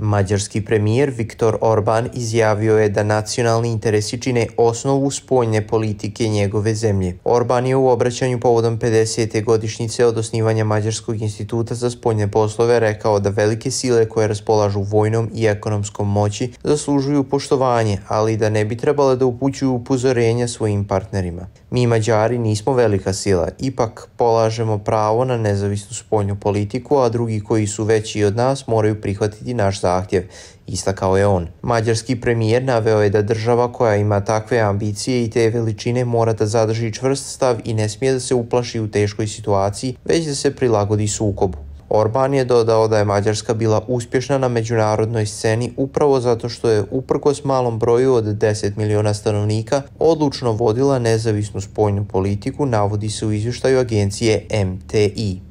Mađarski premijer Viktor Orban izjavio je da nacionalni interesi čine osnovu spoljne politike njegove zemlje. Orban je u obraćanju povodom 50. godišnjice od osnivanja Mađarskog instituta za spoljne poslove rekao da velike sile koje raspolažu vojnom i ekonomskom moći zaslužuju poštovanje, ali da ne bi trebale da upućuju upozorenja svojim partnerima. Mi Mađari nismo velika sila, ipak polažemo pravo na nezavisnu spoljnu politiku, a drugi koji su veći od nas moraju prihvatiti naš zahtjev, istakao je on. Mađarski premijer naveo je da država koja ima takve ambicije i te veličine mora da zadrži čvrst stav i ne smije da se uplaši u teškoj situaciji, već da se prilagodi sukobu. Orban je dodao da je Mađarska bila uspješna na međunarodnoj sceni upravo zato što je uprkos malom broju od 10 miliona stanovnika odlučno vodila nezavisnu spoljnu politiku, navodi se u izvještaju agencije MTI.